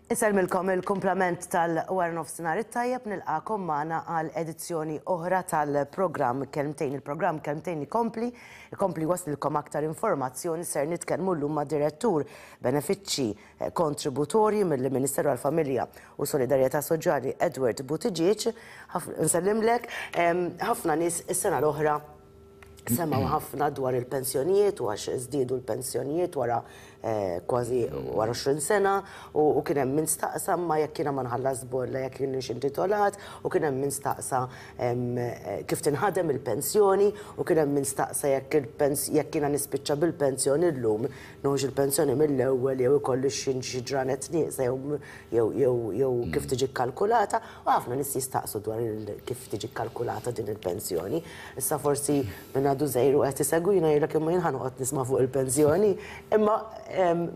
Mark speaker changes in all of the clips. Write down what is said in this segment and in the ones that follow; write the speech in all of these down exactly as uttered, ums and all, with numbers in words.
Speaker 1: Insellmilkom il-kumplament tal-wara nofsinhar it-tajjeb, nilqagħkom magħna għal edizzjoni oħra tal-programm Kelmtejn. Il-programm Kelmtejn ikompli, ikompli waslilkom aktar informazzjoni. Ser nitkellmu llum ma' direttur benefiċċji eh, kontributorji mill-Ministeru għal-Familja u Solidarjetà Soċjali, Edward Buttigieg. Nsellimlek, ħafna nies is-sena l-oħra semgħu ħafna dwar il-pensjonijiet u għax żdiedu l-pensjonijiet wara eh, kważi wara għoxrin sena u kien hemm min staqsa ma jekk jiena ma nħallas bolla jekk jienx intitolat, u kien hemm min staqsa eh, kif tinħadem il-pensjoni, u kien hemm min staqsa jekk jekk jiena nispiċċa bil-pensjoni llum, nieħux il-pensjoni mill-ewwel jew ikolli xi ġranet nieqsa jew jew jew kif tiġi kkalkulata, u ħafna nies jistaqsu dwar kif tiġi kkalkulata din il-pensjoni. Issa forsi minn għadu żgħir u qed isegwina jgħidlek, "Imma jien ħa noqgħod nisma' fuq il-pensjoni?" Imma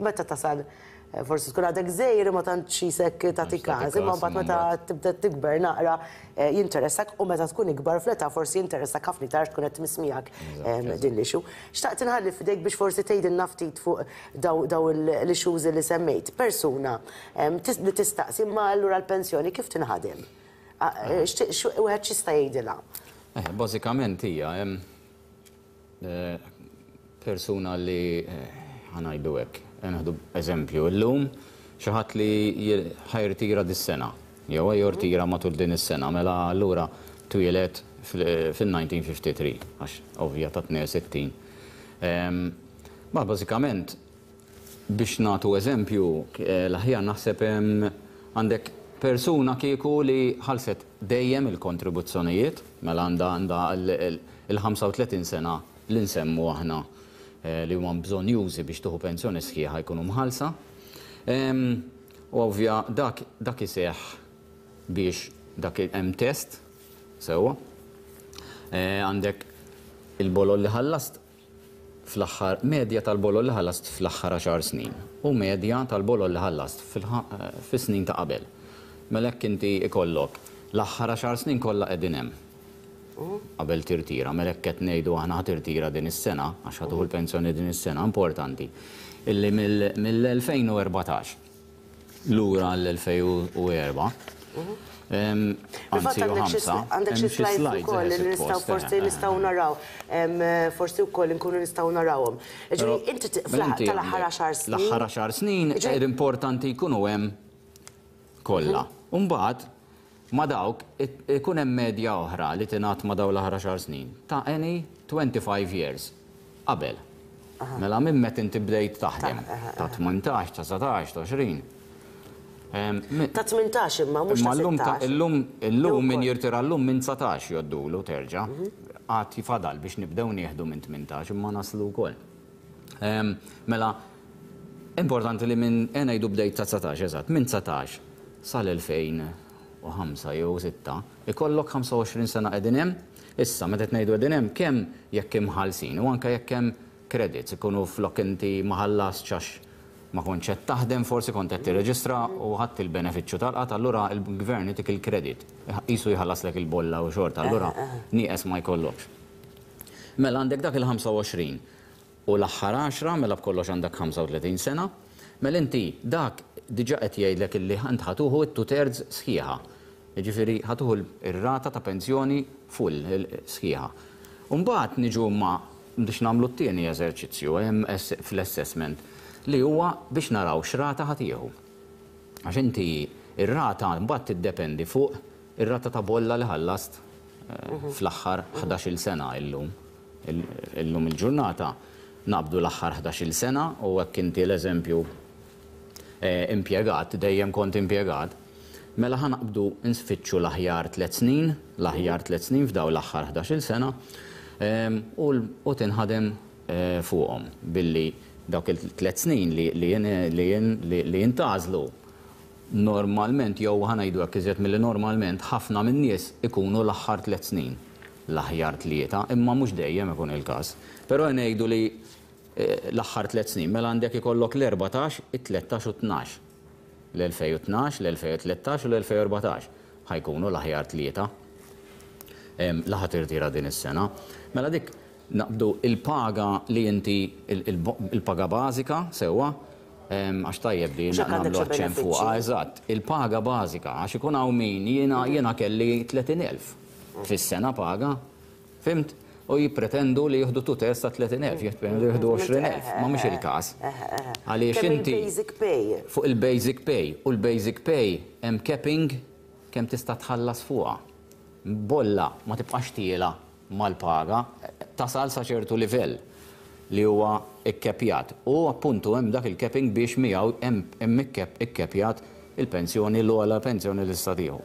Speaker 1: meta tasal eh, forsi tkun għadek żgħir, ma tantx jisek tagħti każ, imma mbagħad meta tibda tikber naqra eh, jinteressak, u meta tkun ikbar fl-età forsi jinteressak ħafna iktar, tkun qed tmiss miegħek din l-issue. Xtaqt inħalli f'idejk biex forsi tgħidilna ftit fuq daw l-issues li semmejt. Persuna li tistaqsi, "Ma allura l-pensjoni kif tinħadem?" Eh, wieħed x'jista' jgħidilha?
Speaker 2: Bażikament hija persuna li, ħa ngħidu hekk, nieħdu eżempju, illum xi ħadd li ħa jirtira dis-sena, jew jirtira matul din is-sena, mela allura twieled fil-elf disa' mija u tlieta u ħamsin, għax ovvja ta' tnejn u sittin. Ma bażikament biex nagħtu eżempju, l-aħjar naħseb għandek persuna kieku li ħalset dejjem il-kontribuzzjonijiet, mela għandha għandha il-ħamsa u tletin sena li nsemmu aħna eh, li huma bżonnjużi biex tieħu pensjoni sħiħa jkunu mħallsa. U ovvja dak dak iseħħ biex dak hemm test sewwa. Eh, għandek il-bolol li ħallast fl-aħħar, medja tal-bolol li ħallast fl-aħħar għaxar snin u medja tal-bolol li ħallast fis-snin ta' qabel. Mela hekk inti ikollok l-aħħar għaxar snin kollha qegħdin hemm qabel tirtira. Mela hekk qed ngħidu aħna ħa tirtira din is-sena, għax ħa tieħu l-pensjoni din is-sena, importanti illi mill-elfejn u erbatax lura l-elfejn u erbgħa.
Speaker 1: Anzi, għandek xi slides ukoll li nistgħu forsi nistgħu naraw, forsi wkoll inkunu nistgħu narawhom. Ġifieri inti tal-aħħar għaxar snin.
Speaker 2: L-aħħar għaxar snin importanti jkunu hemm kollha. Umbagħad ma dawk ikun hemm medja oħra li tingħat ma daw l-aħħar għaxar snin ta' any twenty-five years qabel. Mela minn meta inti bdejt taħdem, ta' tmintax, ta' sbatax, ta' għoxrin.
Speaker 1: Ta' tmintax imma mhux ta' sittax.
Speaker 2: Illum illum min jirtira llum minn dsatax jgħoddulu terġa'. Għad jifadal biex nibdew nieħdu minn tmintax, imma naslu wkoll. Mela importanti li minn ngħidu bdejt ta' dsatax eżatt, minn dsatax sal-elfejn u ħamsa jew sitta, ikollok ħamsa u għoxrin sena qegħdin hemm. Issa meta ngħidu qegħdin hemm, kemm jekk imħallsin u anke jekk hemm credits ikunu flok inti ma ħallastx għax ma kontx qed taħdem, forsi kont qed tirreġistra u ħadt il-benefiċċju tal-qgħad, allura il-gvern itik il-kredit. Qisu jħallaslek il-bolla u xorta, allura nieqes ma jkollokx. Mela għandek dak il-ħamsa u għoxrin u l-aħħar għaxra, mela b'kollox għandek ħamsa u tletin sena, mela inti dak diġà qed jgħidlek illi int ħa tieħu t-two thirds sħiħa. Jiġifieri ħa tieħu ir-rata ta' pensjoni full sħiħa. Umbagħad niġu ma biex nagħmlu t-tieni eżerċizzju hemm fl-assessment li huwa biex naraw x'rata ħa tieħu. Għax inti ir-rata mbagħad tiddependi fuq ir-rata ta' bolla li ħallast eh, fl-aħħar ħdax-il sena illum. Illum il-ġurnata naqbdu l-aħħar ħdax-il sena u hekk inti l-eżempju eh, impjegat, dejjem kont impjegat, mela ħa naqbdu nsfittxu l-aħjar tliet snin, l-aħjar tliet snin f'daw l-aħħar ħdax-il sena u tinħadem eh, fuqhom billi dawk il-tliet snin li li jintgħażlu normalment, jew ħa ngħidu hekk, iżjed milli normalment, ħafna min-nies ikunu l-aħħar tliet snin l-aħjar tlieta, imma mhux dejjem ikun il-każ. Però ngħidu li eh, l-aħħar tliet snin, mela għandek ikollok l-erbatax, it-tlettax u tnax. L-elfejn u tnax, l-elfejn u tlettax u l-elfejn u erbatax ħa jkunu l-aħjar tlieta. Li ħa tirtira din is-sena. Mela dik naqbdu il-paga li inti il-paga bażika sewwa Għax tajjeb di
Speaker 1: Mhux hekk għandek
Speaker 2: nagħmlu
Speaker 1: xi
Speaker 2: aċċenn fuqha,
Speaker 1: benefiċċji.
Speaker 2: Eżatt. Il-paga bażika, għax ikun hawn min jiena jiena kelli tletin elf fis-sena paga, fhimt? U jippretendu li jieħdu two thirds ta' tletin elf, jippretendu jieħdu għoxrin elf, ma mhux il-każ. Għaliex
Speaker 1: Kemm
Speaker 2: inti
Speaker 1: il-basic pay?
Speaker 2: Fuq il-basic pay, u l-basic pay hemm capping kemm tista' tħallas fuqha. Bolla ma tibqax tiela mal-paga, tasal sa ċertu livell li huwa ikkepjat. U appuntu hemm dak il-capping biex miegħu hemm hemm ikkep- ikkepjat il-pensjoni, l-ogħla pensjoni li tista' tieħu.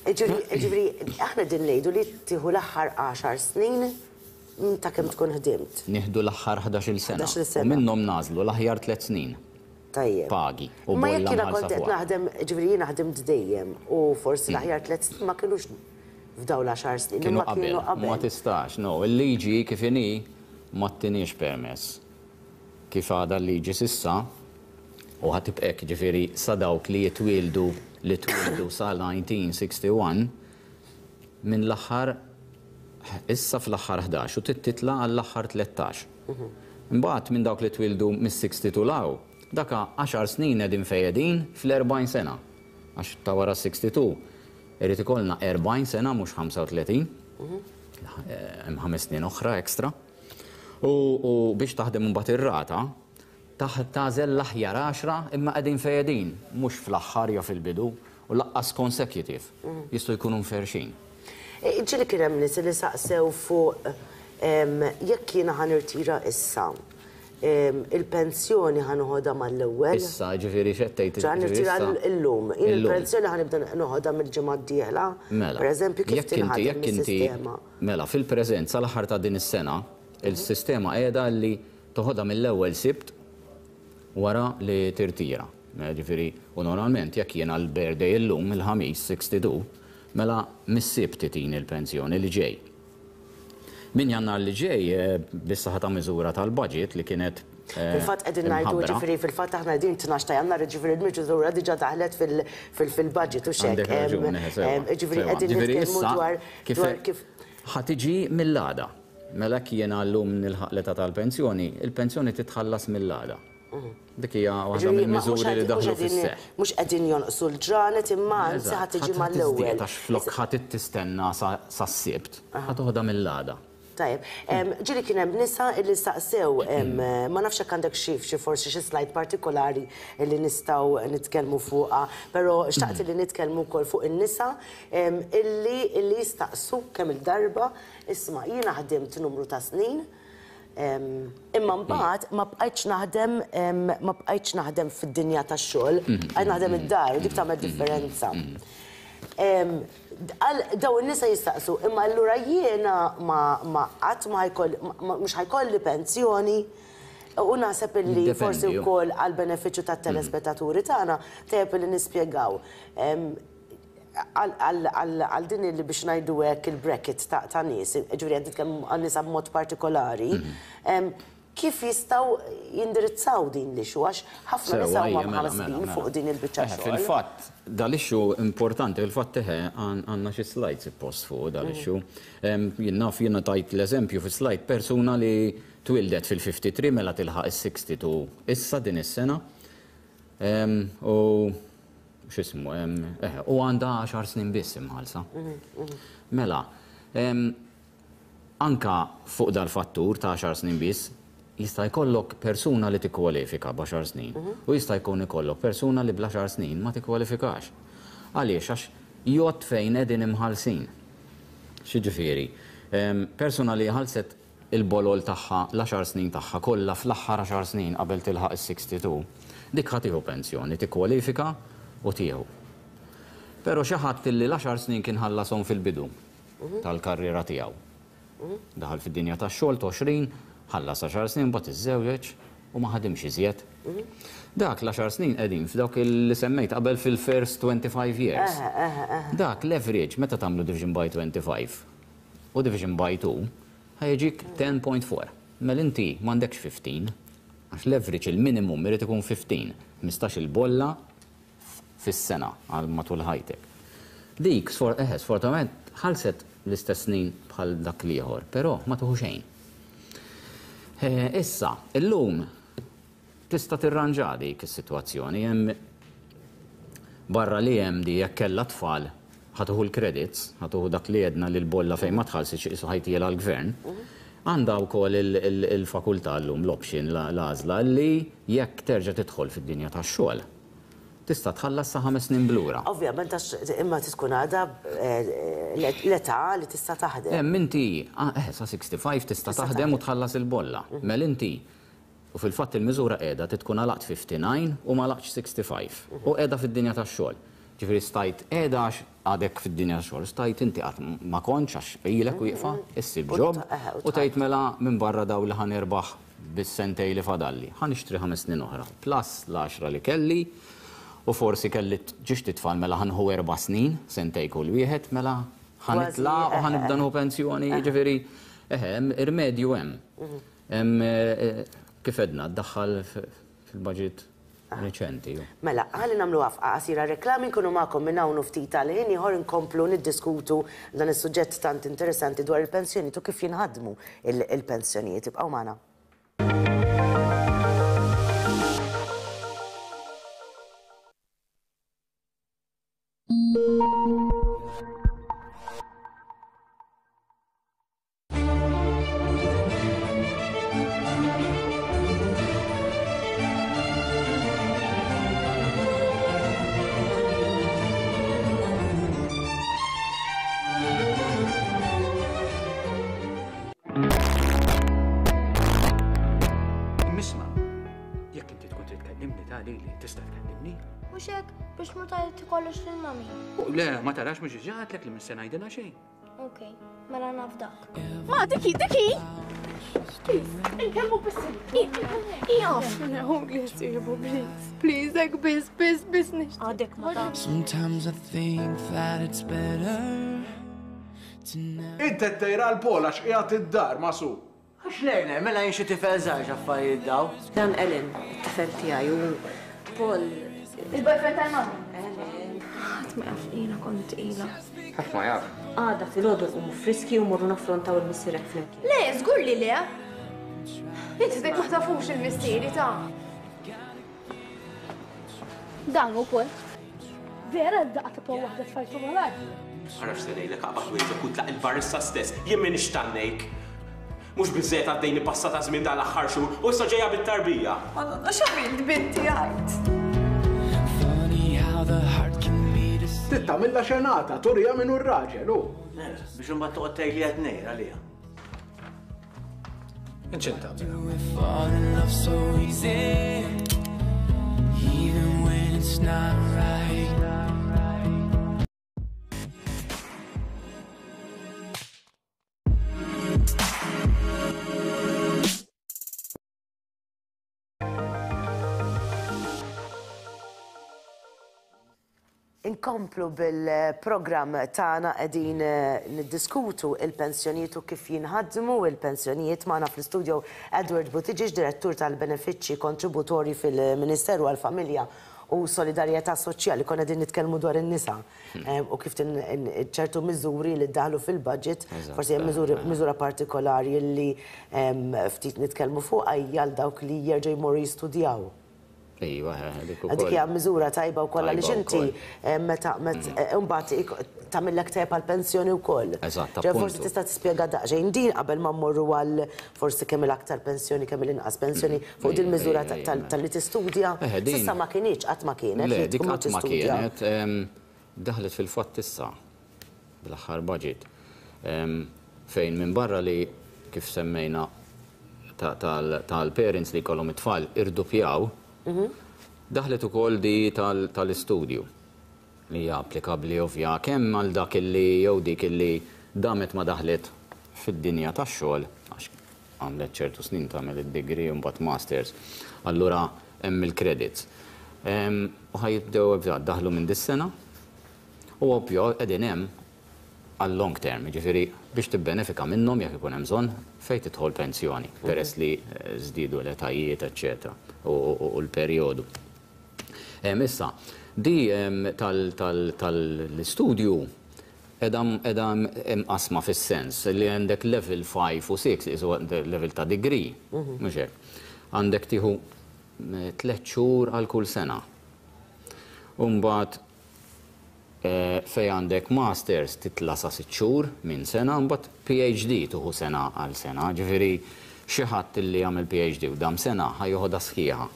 Speaker 1: Ġifieri, aħna din ngħidu li tieħu l-aħħar għaxar snin minn ta' kemm tkun ħdimt.
Speaker 2: Nieħdu l-aħħar ħdax-il sena.
Speaker 1: ħdax-il sena.
Speaker 2: U minnhom nagħżlu l-aħjar tliet snin.
Speaker 1: Tajjeb.
Speaker 2: Pagi. U
Speaker 1: Ma jekk
Speaker 2: bolla
Speaker 1: jiena
Speaker 2: mħallsa
Speaker 1: kont qed
Speaker 2: fuqha.
Speaker 1: naħdem, ġifieri jiena ħdimt dejjem u forsi l-aħjar tliet snin ma kinux f'dawn l-għaxar snin,
Speaker 2: Kienu
Speaker 1: imma kienu
Speaker 2: qabel. Ma
Speaker 1: qabel.
Speaker 2: tistax, no. Il-liġi kif inhi ma ttiniex permess. Kif għadha l-liġi s'issa, u ħa tibqa' hekk, ġifieri sa dawk li jitwildu li twildu sa elf disa' mija u wieħed u sittin, minn l-aħħar, issa fl-aħħar ħdax u titla għall-aħħar tlettax. Imbagħad minn dawk li twildu mis-sittaw sebgħin 'l hawn, daka għaxar snin qegħdin fejedin fl-erbgħin sena. Għax ta' wara sitta u sittin irid ikollna erbgħin sena, mhux ħamsa u tletin. Hemm ħames snin oħra ekstra. U, u biex taħdem imbagħad ir-rata, taħ- tagħżel l-aħjar għaxra imma qegħdin fejedin, mhux fl-aħħar jew fil-bidu u lanqas consecutive. Jistgħu jkunu mferxin.
Speaker 1: Ġieli kien hemm nies li saqsew fuq em, jekk jiena ħa nirtira issa, em, il-pensjoni ħa noħodha mal-ewwel.
Speaker 2: Issa, ġifieri xettejt.
Speaker 1: ħa nirtira illum. Jien
Speaker 2: Illum.
Speaker 1: il-pensjoni ħa nibda noħodha mill-ġimgħa d-dieħla.
Speaker 2: Mela.
Speaker 1: Per eżempju, kif
Speaker 2: jekk inti,
Speaker 1: tinħadem
Speaker 2: jekk inti,
Speaker 1: is-sistema?
Speaker 2: Mela, fil-preżent sal-aħħar ta' din is-sena, il-sistema qiegħda li toħodha mill-ewwel Sibt wara li tirtira. Mela, ġifieri, u normalment jekk jiena l-birthday illum, il-Ħamis sitta u sittin, mela mis-Sibt tini il-pensjoni li ġej. Min Jannar li ġej, eh, bis-saħħa ta' miżura tal-budget li kienet eh,
Speaker 1: Fil-fatt qegħdin ngħidu
Speaker 2: imħabbra.
Speaker 1: Ġifieri fil-fatt aħna qegħdin tnax ta' Jannar, ġifieri l-miżura diġà daħlet fil- fil- fil-budget u xek.
Speaker 2: Għandek raġun, eh, sewa,
Speaker 1: Ġifieri
Speaker 2: sewa.
Speaker 1: qegħdin
Speaker 2: Ġifieri
Speaker 1: nitkellmu
Speaker 2: issa
Speaker 1: dwar
Speaker 2: kif
Speaker 1: dwar kif
Speaker 2: ħa tiġi mill-għada. Mela jiena llum nilħaq l-età tal-pensjoni, il-pensjoni titħallas mill-għada. Dik hija waħda
Speaker 1: Ġifieri, ma- mhux
Speaker 2: mill-miżuri li
Speaker 1: qegħdin-
Speaker 2: daħlu
Speaker 1: mhux qegħdin-
Speaker 2: fis-seħħ.
Speaker 1: Mhux qegħdin jonqsu l-ġranet imma anzi ħa tiġi
Speaker 2: Eżatt,
Speaker 1: mal-ewwel.
Speaker 2: għax flok ħa tistenna sa s-Sibt, ħa toħodha mill-għada.
Speaker 1: Tajjeb, em, ġieli kien hemm nisa illi staqsew, em, ma nafx hekk għandek xi xi forsi xi slide partikolari li nistgħu nitkellmu fuqha, però xtaqt li nitkellmu wkoll fuq in-nisa em, illi illi jistaqsu kemm il-darba, isma' jiena ħdimt numru ta' snin, em, imma mbagħad ma bqajtx naħdem em, ma bqajtx naħdem fid-dinja tax-xogħol, bqajt naħdem id-dar u dik tagħmel differenza. Em, għal daw in-nisa jistaqsu, imma allura jiena ma ma qatt ma ħajkoll ma- mhux ħa jkolli pensjoni, u naħseb illi
Speaker 2: Jiddependi,
Speaker 1: forsi
Speaker 2: ju.
Speaker 1: wkoll għal benefiċċju tat-telespettaturi tagħna tajjeb li nispjegaw Em, għal- għal għal- għal din li biex ngħidu hekk il-bracket ta' ta' nies, ġifieri qed nitkellmu għal nisa b'mod partikolari, em, kif jistgħu jindirizzaw din l-issue, għax ħafna nisa
Speaker 2: Sewa,
Speaker 1: huma
Speaker 2: ija, mela, mela,
Speaker 1: mħassbin
Speaker 2: mela.
Speaker 1: fuq din il-biċċa
Speaker 2: Eh,
Speaker 1: xogħol.
Speaker 2: Fil-fatt, dal-issue importanti, fil-fatt teħe għandna xi slides post fuq dal-issue. Em, Jien naf jiena tajt l-eżempju fi slide persuna li twildet fil-tlieta u ħamsin, mela tilħaq is-sitta u sittin issa din is-sena. Em, U x'ismu, em, eh, u għandha għaxar snin biss imħallsa. Mela, em, anka fuq dal-fattur ta' għaxar snin biss, jista' jkollok persuna li tikkwalifika b'għaxar snin u jista' jkun ikollok persuna li bl-għaxar snin ma tikkwalifikax. Għaliex? Għax jgħod fejn qegħdin imħallsin. X'jiġifieri? Em, Persuna li ħallset il-bolol tagħha l-għaxar snin tagħha kollha fl-aħħar għaxar snin qabel tilħaq is-sitta u sittin, dik ħa tieħu pensjoni, tikkwalifika u tieħu. Però xi ħadd li l-għaxar snin kien ħallasom fil-bidu tal-karriera tiegħu. Daħal fid-dinja tax-xogħol għoxrin, ħallas għaxar snin, mbagħad iżżewweġ u ma ħadimx iżjed. Dak l-għaxar snin qegħdin f'dawk li semmejt qabel fil-first twenty-five years. Dak l-average meta tagħmlu division by twenty-five u division by two ħa jiġik għaxra punt erbgħa. Mela inti m'għandekx ħmistax, għax l-average il-minimum irid ikun ħmistax, ħmistax il-bolla fis-sena għal matul ħajtek. Dik, sfor, eħe, sfortunatament, ħallset l-istess snin bħal dak l-ieħor, però ma tieħu xejn. Eh, Issa, illum Tista' tirranġa dik is-sitwazzjoni, hemm barra li hemm di jekk kellha tfal ħa tieħu l-credits, ħa tieħu dak li għedna li l-bolla fejn ma tħallsitx qisu ħa jtielha l-gvern. Għandha wkoll il-fakultà llum l-option, l-għażla li jekk terġa' tidħol fid-dinja tax-xogħol, tista' tħallas sa ħames snin blura.
Speaker 1: Ovvjament, għax imma tkun għadha l-età li tista' taħdem.
Speaker 2: Hemm inti, eh, sa sixty-five tista' taħdem u tħallas il-bolla. Mela inti, u fil-fatt il-miżura qiegħda tkun għalaqt fifty-nine u ma għalaqtx sixty-five. U qiegħda fid-dinja tax-xogħol. Ġifieri stajt qiegħda għax għadek fid-dinja tax-xogħol, stajt inti qatt ma kontx għax ilek wieqfa, issib job u tgħid mela minn barra daw li ħa nirbaħ bis-sentej li fadalli. Ħa nixtri ħames snin oħra, plus l-għaxra li kelli, u forsi kelli ġiex titfal mela ħa nieħu erba' snin, sentej kull wieħed, mela ħa nitla' u ħa nibda nieħu pensjoni, ġifieri, eħe, hemm irmedju hemm. Hemm kif edna, ddaħħal fil-budget reċenti.
Speaker 1: Mela, ħalli nagħmlu waqfa qasira reklami, nkunu magħkom minn hawn u ftit tal-ħin ieħor inkomplu niddiskutu dan is-suġġett tant interessanti dwar il-pensjonijiet u kif jinħadmu il-pensjonijiet. Ibqgħu magħna.
Speaker 3: Biex ma tgħid kollox lil mami.
Speaker 4: Le, ma tarax mhux diġà għedtlek li mhux se ngħidilha xejn.
Speaker 3: Okej, mela naf dak.
Speaker 5: Ma diki, diki! Please, inkellmu biss. Jaf. Please, please, hekk biss, biss, biss nixtieq.
Speaker 3: Għadek ma taf.
Speaker 6: Sometimes I think that it's better to never.
Speaker 7: Inti qed tgħira l-Paul għax qiegħed id-dar ma' su.
Speaker 8: Għax lejna, mela jien xi tifel żgħar x'affarijiet daw.
Speaker 9: Dan Ellen, it-tifel tiegħi u Paul.
Speaker 5: Il-boyfriend tal-mami. Ħadd ma jaf li jiena kont tqila.
Speaker 4: Ħadd ma jaf.
Speaker 9: Għada filgħodu nqumu friski u morru naffrontaw il-missierek flimkien.
Speaker 5: Le, żgur li le. Inti dik ma tafux il-missieri ta'. Dan ukoll. Vera d-daqqa ta' Paul waħda tfajtu malajr.
Speaker 10: Għaraf se ngħidlek aqbad wieġek u tlaq il-barissa stess, jien m'iniex tannejk. Mhux biżżejjed għaddejni passata żmien dan l-aħħar xhur u issa ġejja bit-tarbija.
Speaker 5: Madonna x'għamilt binti għajt.
Speaker 7: Trid tagħmilha xenata, turija minn hu r-raġel hu.
Speaker 8: Biex imbagħad toqgħod tgħid li qed ngħid għaliha.
Speaker 4: Inċint tagħmilha.
Speaker 1: Inkomplu bil-programm tagħna qegħdin niddiskutu il-pensjonijiet u kif jinħadmu il-pensjonijiet. Magħna fl-istudio Edward Buttigieg, direttur tal-benefiċċji kontributorji fil-Ministeru għall-Familja u Solidarjetà Soċjali. Konna qegħdin nitkellmu dwar in-nisa u kif ċertu miżuri li ddaħlu fil-budget, forsi hemm miżura partikolari li ftit nitkellmu fuqha hija għal dawk li jerġgħu jmorru jistudjaw.
Speaker 2: Ejwa, dik ukoll.
Speaker 1: Dik hija miżura tajba wkoll għaliex inti meta mbagħad tagħmillek tajjeb għall-pensjoni wkoll.
Speaker 2: Eżatt,
Speaker 1: Forsi tista' tispjega daqsxejn din qabel ma mmorru għal forsi kemm il-aktar pensjoni, kemm il-inqas pensjoni fuq din miżura tal-li tistudja. S'issa ma kinitx, qatt ma kienet.
Speaker 2: Le, dik qatt ma kienet. Daħlet fil-fatt issa bl-aħħar budget fejn minn barra li kif semmejna tal-parents li jkollhom it-tfal irdupjaw. Daħlet ukoll di tal-istudju li hija applikabbli ovvja kemm għal dak illi jew dik illi damet ma daħlet fid-dinja tax-xogħol għax għamlet ċertu snin tagħmel id-degree u mbagħad masters, allura hemm il-credits. U ħajibdew daħlu minn dis-sena u ovvja qegħdin hemm għal long term, jiġifieri biex tibbenefika minnhom jekk ikun hemm bżonn fejn tidħol pensjoni, peress li żdiedu l-etajiet, eċċetera, u l-perjodu. Issa, di tal-istudju qiegħda imqasma fis-sens li għandek level five u six, level ta' degree, mhux hekk. Għandek tieħu tliet xhur għal kull sena. U mbagħad fejn għandek masters titla' sa sitt xhur minn sena, mbagħad P H D tieħu sena għal sena, ġifieri xi ħadd li jagħmel P H D u dam sena ħa joħodha sħiħa.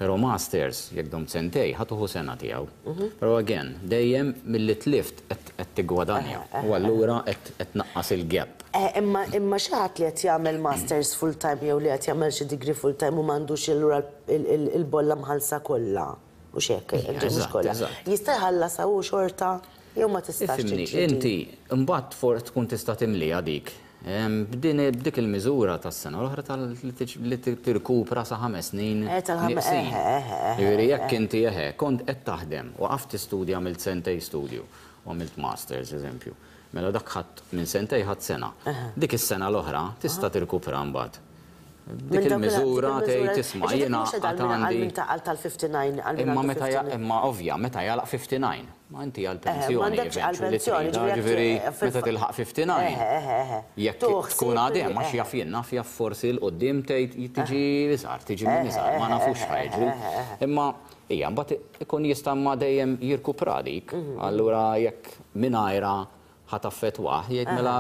Speaker 2: Però masters, jekk dom sentejn, ħa tieħu sena tiegħu. Però again, dejjem milli tlift qed tiggwadanja. U allura qed tnaqqas il-gap.
Speaker 1: Eh, imma imma xi ħadd li qed jagħmel masters full time jew li qed jagħmel xi degree full time u m'għandux allura il-bolla mħallsa kollha. U xek, mhux kollha. Jista' jħallas u xorta jew ma tistax?
Speaker 2: Ifhimni, inti mbagħad for tkun tista' timlija dik. B'din b'dik il-miżura tas-sena l-oħra li tirkupra sa ħames snin
Speaker 1: eh,
Speaker 2: neqsin. Jiġifieri jekk inti eħe kont qed taħdem u waqaft tistudja, għamilt sentejn studju u għamilt masters, eżempju. Mela dak ħadd minn sentejn ħadd sena. Dik is-sena l-oħra tista' tirkupra mbagħad. Dik il-miżura tgħid, tisma', jiena
Speaker 1: għandi. Għal tal-ħamsa u ħamsin.
Speaker 2: Imma meta imma ovvja meta jagħlaq ħamsa u ħamsin. Ma inti għal-pensjoni.
Speaker 1: Għal-pensjoni.
Speaker 2: Ġifieri meta tilħaq ħamsa u ħamsin. Jekk tkun għadem, għax jaf jien naf, jaf forsi 'l quddiem tgħid tiġi iżgħar, tiġi minn iżgħar, ma nafux x'ħa jiġri. Imma hija mbagħad ikun jista' ma dejjem jirkupra dik. Allura jekk mingħajra ħa taffettwah, jgħid mela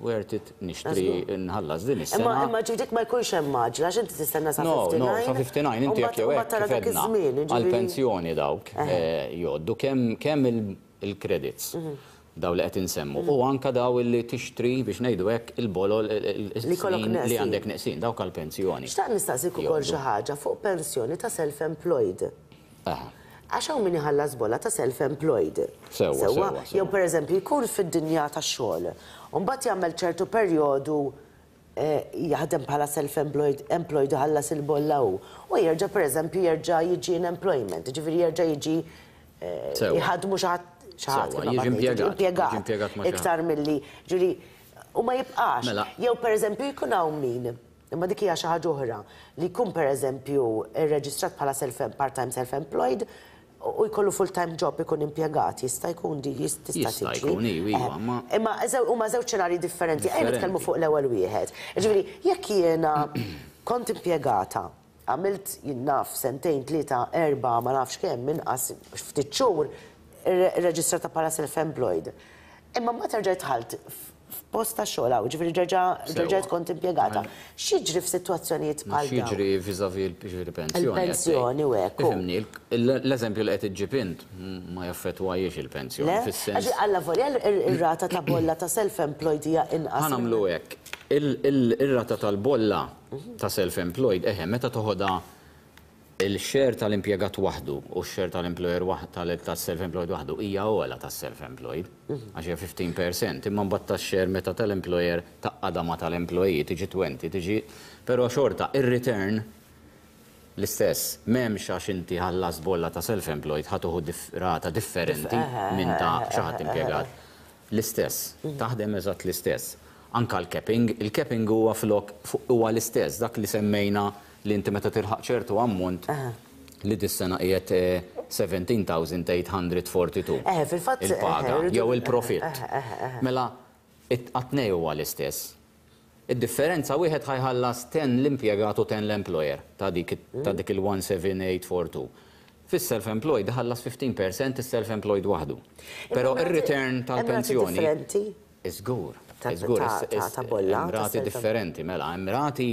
Speaker 2: worth it nixtri nħallas din
Speaker 1: Imma
Speaker 2: is-sena.
Speaker 1: Imma ġidik ma jkunx hemm maġla għax inti tistenna sa
Speaker 2: No,
Speaker 1: ħamsa u ħamsin.
Speaker 2: No, sa ħamsa u ħamsin inti jekk jew hekk
Speaker 1: tara dak
Speaker 2: kif għedna,
Speaker 1: iż-żmien, ġifieri-
Speaker 2: għal-pensjoni dawk eh, jgħoddu kemm kemm il-credits daw li qed insemmu u anka daw li tixtri, biex ngħidu hekk, il-bolol
Speaker 1: Li kollok
Speaker 2: il-snin li
Speaker 1: neqsin.
Speaker 2: għandek neqsin dawk għal-pensjoni.
Speaker 1: Xtaqt nistaqsik ukoll xi ħaġa fuq pensjoni ta' self-employed.
Speaker 2: Aha.
Speaker 1: Għax hawn min iħallas bolla ta' self-employed.
Speaker 2: Sewwa, sewwa, sewwa.
Speaker 1: Jew pereżempju jkun fid-dinja tax-xogħol. U mbagħad jagħmel ċertu perjodu eh, jaħdem bħala self-employed employed iħallas il-bolla hu. U jerġa' pereżempju jerġa' jiġi in employment, ġifieri jerġa' jiġi eh,
Speaker 2: Sewwa.
Speaker 1: jħadmu xi ħadd xi ħadd
Speaker 2: Sewwa,
Speaker 1: kif
Speaker 2: jiġi
Speaker 1: ma
Speaker 2: impjegat,
Speaker 1: impjegat
Speaker 2: jiġi impjegat ma' xi ħadd.
Speaker 1: Iktar milli ġifieri u ma jibqax.
Speaker 2: Mela.
Speaker 1: Jew pereżempju jkun hawn min, imma dik hija xi ħaġa oħra, li jkun pereżempju irreġistrat bħala self part-time self-employed u jkollu full-time job, ikun impjegat, jista' jkun di tista'
Speaker 2: Jista'
Speaker 1: tiġri.
Speaker 2: jkun, iva, iva,
Speaker 1: Eh,
Speaker 2: ma-
Speaker 1: Imma eżew- huma żewġ xenarji differenti. Ejja nitkellmu
Speaker 2: Differenti.
Speaker 1: fuq l-ewwel wieħed. Ġifieri, jekk jiena kont impjegata, għamilt jien naf sentejn, tlieta, erba, ma nafx kemm, inqas ftit xhur irreġistrata bħala self-employed. Imma ma terġa' dħalt f'post ta' xogħol hawn, ġifieri ġerġa' ġerġajt kont impjegata. X'jiġri f'sitwazzjonijiet
Speaker 2: Ma
Speaker 1: bħal dawn?
Speaker 2: x'jiġri vis-à-vis il-ġifieri pensjoni?
Speaker 1: Il-pensjoni u hekk, u.
Speaker 2: Ifhimni, il- l-eżempju li qed iġġib int ma jaffettwajiex il-pensjoni
Speaker 1: Le?
Speaker 2: fis-sens.
Speaker 1: Għax alla volja ir-rata ta' bolla ta' self-employed hija inqas.
Speaker 2: Ħa nagħmlu hekk. Il- il- Ir-rata tal-bolla ta' self-employed, eħe, meta toħodha il-share tal-impjegat waħdu u x-share tal-employer waħ- tal- tas-self-employed waħdu hija ogħla tas-self-employed, għax hija ħmistax fil-mija, imma mbagħad tax-share meta tal-employer tgħaqqadha ma' tal-employee tiġi għoxrin, tiġi, però xorta ir-return l-istess, m'hemmx għax inti ħallas bolla ta' self-employed ħa tieħu dif rata differenti minn ta' xi ħadd impjegat. L-istess, taħdem eżatt l-istess. Anka l-capping, il-capping huwa flok fuq- huwa l-istess, dak li semmejna li inti meta tilħaq ċertu ammont li dis-sena qiegħed eh, sittax-il elf u tmien mija u erbgħa u erbgħin.
Speaker 1: Eh, fil-fatt,
Speaker 2: il-paga
Speaker 1: eh,
Speaker 2: jew il-profitt.
Speaker 1: eh, eh, eh.
Speaker 2: Mela, it-tnejn huwa l-istess. Id-differenza wieħed ħa jħallas għaxra l-impjegat u għaxra l-employer ta' dik ta' dik il-sittax-il seba' tlieta erba' tnejn. Fis-self-employed ħallas ħmistax fil-mija is-self-employed waħdu. Però
Speaker 1: Imma
Speaker 2: ir-return
Speaker 1: hemm rati
Speaker 2: tal-pensjoni
Speaker 1: differenti?
Speaker 2: Iżgur,
Speaker 1: Ta'
Speaker 2: iżgur,
Speaker 1: ta'
Speaker 2: is-
Speaker 1: ta'
Speaker 2: is-
Speaker 1: ta' bolla,
Speaker 2: hemm
Speaker 1: ta'
Speaker 2: rati
Speaker 1: self-
Speaker 2: differenti, mela, hemm rati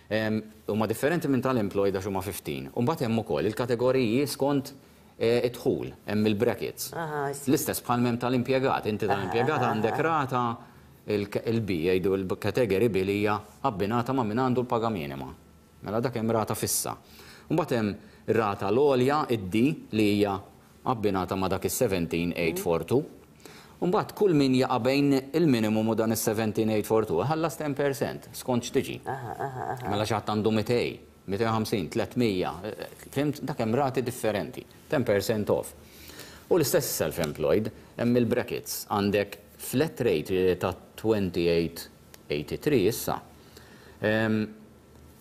Speaker 2: em, huma differenti minn tal-employed għax huma ħmistax. U mbagħad hemm ukoll il-kategoriji skont eh, id-dħul, hemm il-brackets.
Speaker 1: Aha, I see.
Speaker 2: L-istess bħal m'hemm tal-impjegat, inti tal-impjegat għandek rata il-B, jgħidu il-category B li hija abbinata ma' min għandu l-paga minima. Mela dak hemm rata fissa. Mbagħad hemm rata l-għolja, id-D, li hija abbinata ma' dak is-sittax-il seba' tlieta erba' tnejn. Mbagħad kull min jaqa' bejn il-minimum u dan is-sittax-il seba' tlieta erba' tnejn ħallas għaxra fil-mija skont x'tiġi. Mela xi ħadd għandu mitejn, mitejn u ħamsin, tliet mija, fhimt, dak hemm rati differenti, għaxra fil-mija off. U l-istess self-employed, hemm il-brackets, għandek flat rate ta' tmienja u għoxrin punt tlieta tlieta issa. Em,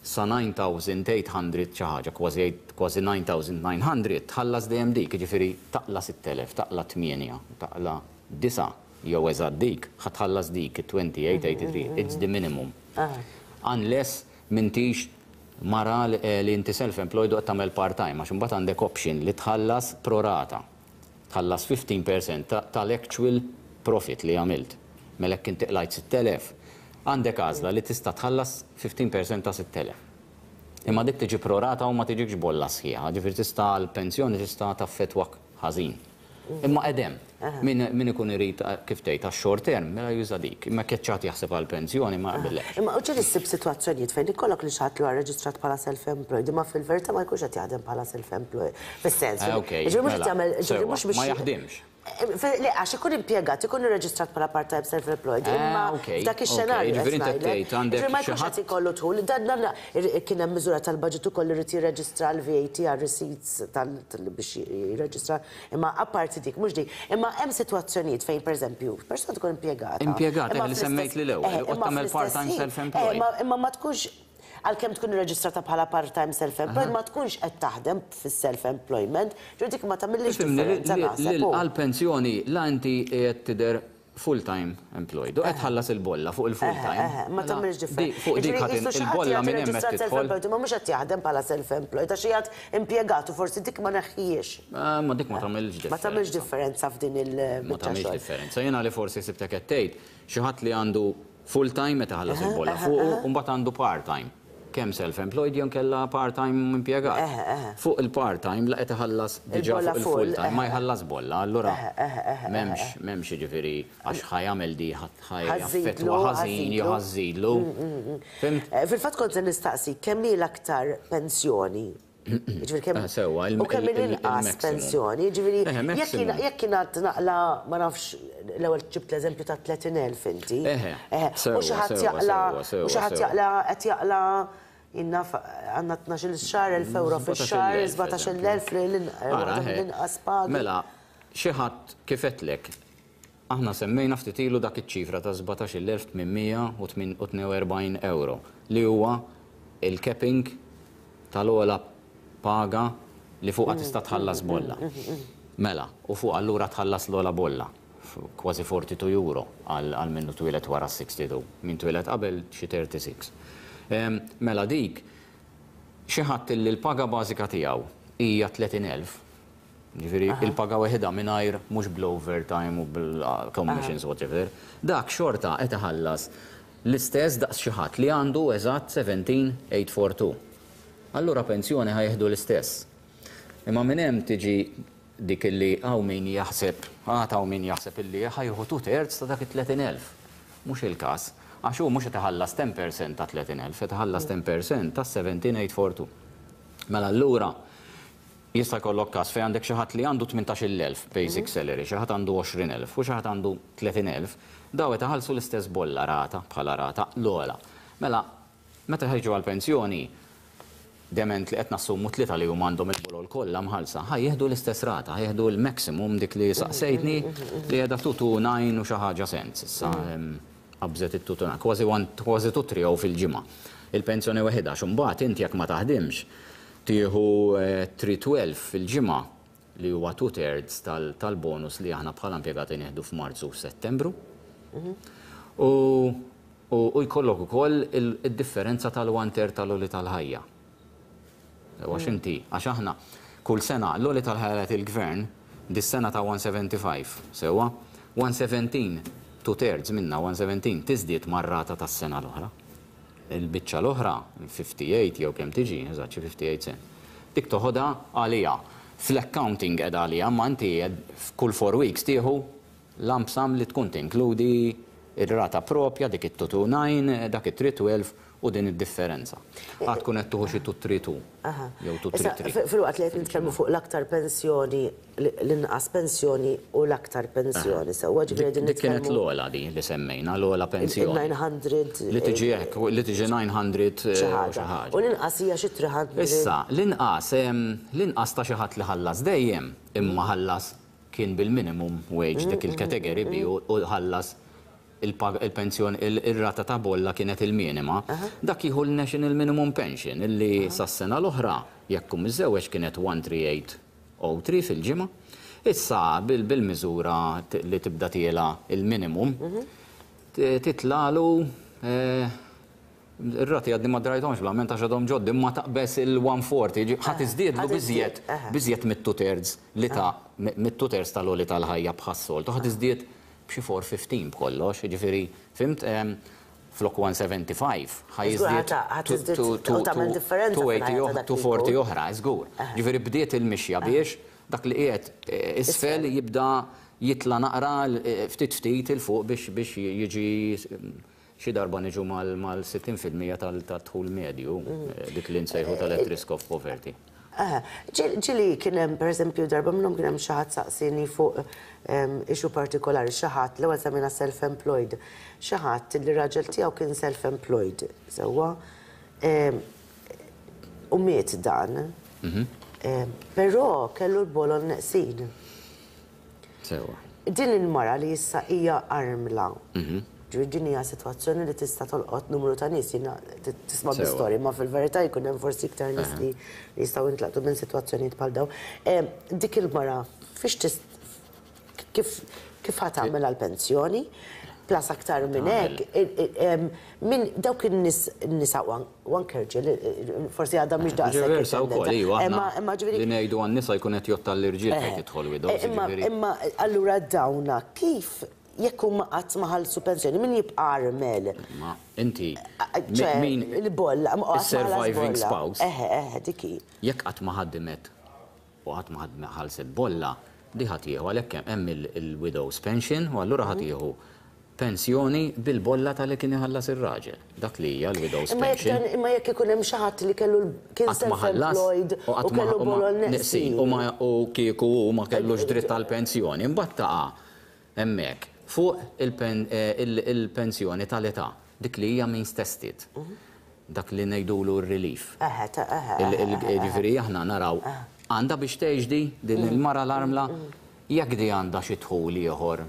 Speaker 2: Sa disa' elef u tmien mija xi ħaġa, kważi kważi disa' elef u disa' mija tħallas dejjem dik, jiġifieri taqla' sitt elef, taqla' tmienja, taqla' disgħa jew eżatt dik, ħa tħallas dik, tmienja u għoxrin punt tlieta tlieta, it's the minimum. Unless m'intix Mara li li inti self-employed u qed tagħmel part-time, għax imbagħad għandek option li tħallas pro rata. Tħallas fifteen percent ta- tal-actual profit li għamilt. Mela jekk inti qlajt sitt elef, għandek għażla li tista' tħallas fifteen percent ta' sitt elef. Imma dik tiġi pro rata u ma tiġikx bolla sħiħa, ġifieri tista' l-pensjoni tista' taffetwak ħażin. Imma edem, min, min ikun irid, kif tgħid, għax short term, mela juża dik. Imma keċċat jaħseb għal-pensjoni, ma jaqbillekx.
Speaker 1: Imma u ġieli ssib sitwazzjonijiet fejn ikollok li xi ħadd li huwa reġistrat bħala self-employed, imma fil-verità ma jkunx qed jaħdem bħala self-employed. Fis-sens.
Speaker 2: Eh, okej,
Speaker 1: Ġifieri mhux qed
Speaker 2: mela,
Speaker 1: jagħmel, ġifieri
Speaker 2: sewwa,
Speaker 1: mhux biex
Speaker 2: ma jaħdimx.
Speaker 1: Le, għax ikun impjegat, ikun irreġistrat bħala part-time self-employed,
Speaker 2: Eh,
Speaker 1: imma
Speaker 2: okej,
Speaker 1: f'dak
Speaker 2: okej,
Speaker 1: ix-xenarju
Speaker 2: ġifieri
Speaker 1: qed
Speaker 2: inti
Speaker 1: ngħidlek.
Speaker 2: tgħid għandek
Speaker 1: Ġifieri ma
Speaker 2: xi
Speaker 1: jkunx
Speaker 2: ħadd
Speaker 1: qed ikollu dħul. Dan dan kien hemm miżura tal-budget ukoll irid jirreġistra l-V A T għal receipts tal tal- biex jirreġistra, imma apparti dik, mhux dik. Imma hemm sitwazzjonijiet fejn, pereżempju, persuna tkun impjegata.
Speaker 2: Impjegata,
Speaker 1: imma
Speaker 2: li
Speaker 1: fl-istess-
Speaker 2: semmejt li l-ewwel,
Speaker 1: eh,
Speaker 2: u
Speaker 1: imma
Speaker 2: tagħmel
Speaker 1: fl-istess
Speaker 2: part-time
Speaker 1: ħin,
Speaker 2: self-employed.
Speaker 1: eh, imma- Imma ma tkunx, għalkemm tkun irreġistrata bħala part-time self-employed, ma tkunx qed taħdem fis-self-employment, ġifieri dik ma tagħmilx
Speaker 2: Ifhimni, li-
Speaker 1: differenza
Speaker 2: li-
Speaker 1: naħseb.
Speaker 2: li
Speaker 1: u.
Speaker 2: għal-pensjoni la inti qiegħed tidher full-time employed u qed tħallas il-bolla fuq il-full-time.
Speaker 1: Eh, ma
Speaker 2: Mela,
Speaker 1: tagħmilx
Speaker 2: di-
Speaker 1: differenza.
Speaker 2: Fuq dik ħadd il-bolla minn hemm qed tidħol.
Speaker 1: Self-employed, ma mhux qed jaħdem bħala self-employed, għax qiegħed impjegat u forsi dik ma neħħijiex.
Speaker 2: Eh, Ma dik ma tagħmilx differenza.
Speaker 1: Ma tagħmilx differenza f'din
Speaker 2: Ma
Speaker 1: il-biċċa
Speaker 2: tagħmilx
Speaker 1: xogħol.
Speaker 2: differenza. Jiena li forsi sibtek qed tgħid xi ħadd li għandu full-time meta ħallas il-bolla fuq u mbagħad għandu part-time. Kemm self-employed jew kella part-time impjegat.
Speaker 1: Eħe, eħe.
Speaker 2: Fuq il-part-time la qed iħallas diġà
Speaker 1: Il-bolla
Speaker 2: fuq
Speaker 1: full,
Speaker 2: il-full-time, ma
Speaker 1: eħe.
Speaker 2: jħallas bolla, allura
Speaker 1: Eħe, eħe, eħe,
Speaker 2: m'hemmx m'hemmx jiġifieri għax ħa jagħmel di ħa
Speaker 1: Ħażidlu,
Speaker 2: jaffettwa ħażin jew
Speaker 1: ħażidlu.
Speaker 2: ħażidlu. Fhimt?
Speaker 1: Eh, Fil-fatt kont se nistaqsi kemm hi l-aktar pensjoni? Ġifieri kemm
Speaker 2: Eh, sewwa, il-
Speaker 1: u kemm
Speaker 2: il- il-
Speaker 1: l-inqas
Speaker 2: il-maximum.
Speaker 1: pensjoni, ġifieri
Speaker 2: Eh,
Speaker 1: jekk
Speaker 2: maximum.
Speaker 1: jiena- jekk kien għad naqla, ma nafx, l-ewwel ġibt l-eżempju ta' tletin elf inti.
Speaker 2: Eħe,
Speaker 1: Eh, U
Speaker 2: sewwa,
Speaker 1: xi ħadd
Speaker 2: sewwa,
Speaker 1: jaqla
Speaker 2: sewwa, sewwa,
Speaker 1: u xi ħadd
Speaker 2: sewwa.
Speaker 1: jaqla qed jaqla jiena għandna tnax-il xahar, elf euro fix-xahar, sbatax-il elf
Speaker 2: Ara, eħe.
Speaker 1: l-inqas pagi.
Speaker 2: Mela, xi ħadd kif għedtlek, aħna semmejna ftit ilu dak iċ-ċifra ta' sbatax-il elf tmien mija u tnejn u erbgħin euro li huwa il-capping tal-ogħla paga li fuqha tista' tħallas bolla. Mela, u fuq allura tħallas l-ogħla bolla, f- kważi erbgħa u erbgħin euro għal għal minnu twieled wara sitta u sittin, min twieled qabel xi tlieta u sittin. Em, Mela dik, xi ħadd li l-paga bażika tiegħu hija tletin elf, ġifieri il-paga weħida mingħajr, mhux bl-overtime u bil-commissions, whatever, dak xorta qed iħallas l-istess daqs xi ħadd li għandu eżatt sbatax elf tmien mija u erbgħa u erbgħin. Allura pensjoni ħa jieħdu l-istess. Imma minn hemm tiġi dik illi hawn min jaħseb, għad hawn min jaħseb illi ħa jieħu two thirds ta' dak it-tletin elf. Mhux il-każ. Għax hu mhux qed iħallas ten percent ta' tletin elf, qed iħallas ten percent ta' seventeen eight forty-two. Mela allura jista' jkollok każ fejn għandek xi ħadd li għandu tmintax-il elf basic salary, xi ħadd għandu għoxrin elf u xi ħadd għandu tletin elf, daw qed iħallsu l-istess bolla rata bħala rata l-ogħla. Mela, meta ħa jiġu għall-pensjoni, dement li qed nassumu tlieta li huma għandhom il-bolol kollha mħallsa, ħa jieħdu l-istess rata, ħa jieħdu l-maximum dik li saqsejtni li qiegħda two two nine u xi ħaġa cents. Issa em, qabżet it-two two nine, kważi one, kważi two three fil-ġimgħa. Il-pensjoni waħedha, x'imbagħad inti jekk ma taħdimx tieħu eh, three twelve fil-ġimgħa li huwa two thirds tal- tal-bonus li aħna bħala impjegati nieħdu f'Marzu u Settembru. U, u, u jkollok ukoll il- il-differenza tal-one third tal-għoli tal-ħajja. Għax inti, għax aħna kull sena l-għoli tal-ħajja il-gvern dis-sena ta' one seventy-five, sewwa, one seventeen, two thirds minna one seventeen tiżdied mar-rata tas-sena l-oħra. Il-biċċa l-oħra, fifty-eight jew kemm tiġi, eżatt xi fifty-eight cent. Dik toħodha għalija. Fl-accounting qed għalija, ma inti f'kull four weeks tieħu lump sum li tkun tinkludi ir-rata propja, dik it-two two nine, dak it-three twelve u din id-differenza. Għad tkun qed tuħu xi two three two jew
Speaker 1: Issa,
Speaker 2: two three three.
Speaker 1: fi- Fil-waqt li qed nitkellmu fuq l-aktar pensjoni, l-inqas pensjoni u l-aktar pensjoni, sewwa, ġifieri qegħdin
Speaker 2: Dik kienet
Speaker 1: nitkellmu
Speaker 2: l-ogħla di li semmejna, l-ogħla pensjoni.
Speaker 1: il-nine hundred
Speaker 2: Li tiġi hekk, li tiġi nine hundred eh,
Speaker 1: xi
Speaker 2: u xi
Speaker 1: ħaġa.
Speaker 2: ħaġa.
Speaker 1: U l-inqas hija xi three hundred.
Speaker 2: Issa, l-inqas, em, l-inqas ta' xi ħadd li ħallas dejjem, imma ħallas kien bil-minimum wage dik il-category B u u ħallas il-pag- il-pensjoni, il- il-rata ta' bolla kienet il-minima, dak jieħu l-National Minimum Pension illi sas-sena l-oħra jekk hu miżżewweġ kienet one three eight oh three fil-ġimgħa. Issa bil- bil-miżura t- li tibda tiela il-minimum, t- titlalu eh, Ir-rati għadni ma drajthomx bl-amment għax għadhom ġoddi, ma taqbeż il-mija u erbgħin, ħa tiżdiedlu biżjed biżjed mit-two thirds li ta' mit-two thirds tal-għoli tal-ħajja bħas-soltu, ħa tiżdied b'xi erba' mija u ħmistax b'kollox, ġifieri, fhimt, flok mija u ħamsa u sebgħin ħa jiżdied mija u erbgħin oħra, żgur. Ġifieri bdiet il-mixja biex dak li qiegħed isfel jibda jitla naqra ftit ftit 'il fuq biex biex jiġi xi darba niġu mal-sittin fil-mija tal-dħul medju, dik li nsejħu tal-at risk of poverty.
Speaker 1: Ġieli kien hemm, per eżempju, darba minnhom kien hemm xi ħadd saqsini fuq issue partikolari, xi ħadd, l-ewwel semmejna self-employed, xi ħadd li raġel tiegħu kien self-employed, sewwa, u miet dan, però kellu l-bolol neqsin.
Speaker 2: Sewwa.
Speaker 1: Din il-mara li issa hija armla, din hija sitwazzjoni li tista' tolqot numru ta' nies, jiena tisma' bi-storja, ma fil-verità jkun hemm forsi iktar nies li jistgħu jintlaqtu minn sitwazzjonijiet bħal dawn. Dik il-mara fiex kif kif ħa tagħmel għall-pensjoni? Plus aktar minn hekk, minn dawk in-nies nisa u anke rġiel, forsi għadha mhix daqshekk.
Speaker 2: Versa wkoll, iva, aħna li ngħidu għan-nisa jkun qed jgħodd għall-irġiel fejn tidħol widows.
Speaker 1: Imma allura dawna kif jekk huma qatt ma ħallsu pensjoni, min jibqa' armel?
Speaker 2: Ma inti
Speaker 1: min il-bolla,
Speaker 2: surviving spouse.
Speaker 1: Eħe, eħe, dik hi.
Speaker 2: Jekk qatt ma ħaddimet u qatt ma ħallset bolla, di ħa tieħu għalhekk hemm il-widow's pension u allura ħa tieħu pensjoni bil-bolla tal-li kien iħallas ir-raġel. Dak li hija l-widow's pension.
Speaker 1: Imma jekk ikun hemm xi ħadd li kellu kien self-employed u kellu bolol neqsin.
Speaker 2: U kieku u ma kellux dritt għall-pensjoni, imbagħad taqa' hemmhekk fuq il-pensjoni tal-età, dik li hija means tested. Dak li ngħidulu r-relief. Ġifieri aħna naraw għandha biex tgħix di din il-mara l-armla, jekk di għandha xi dħul ieħor,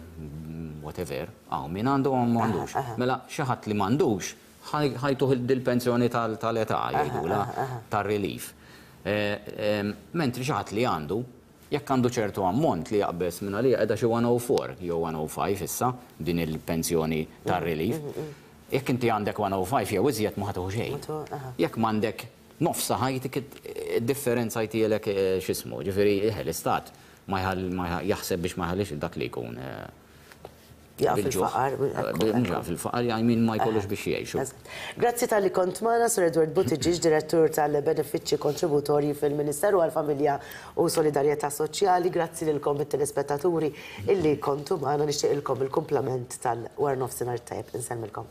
Speaker 2: whatever, hawn min għandu hawn m'għandux. Mela xi ħadd li m'għandux ħa jtuh dil-pensjoni tal-età jgħidula tar-relief. Mentri xi ħadd li għandu, jekk għandu ċertu ammont li jaqbeż minn għalija qiegħda xi mija u erbgħa jew mija u ħamsa issa din il-pensjoni tar-relief. Jekk inti għandek mija u ħamsa jew iżjed ma ħa tieħu xejn. Jekk m'għandek nofsa ħajtik id-differenza jtielek x'ismu, ġifieri l-istat ma jaħseb biex ma jħallix dak li jkun
Speaker 1: Jaqa' fil-faqar.
Speaker 2: Jaqa' fil-faqar jgħaj min ma jkollux biex jgħixu.
Speaker 1: Grazzi talli kont magħna, Sir Edward Buttigieg, direttur tal-Benefiċċji Kontributorji fil-Ministeru għall-Familja u Solidarjetà Soċjali. Grazzi lilkom it-telespettaturi illi kontu magħna, nixtieqilkom il-kumplament tal-wara nofsinhar tajjeb. Insellmilkom.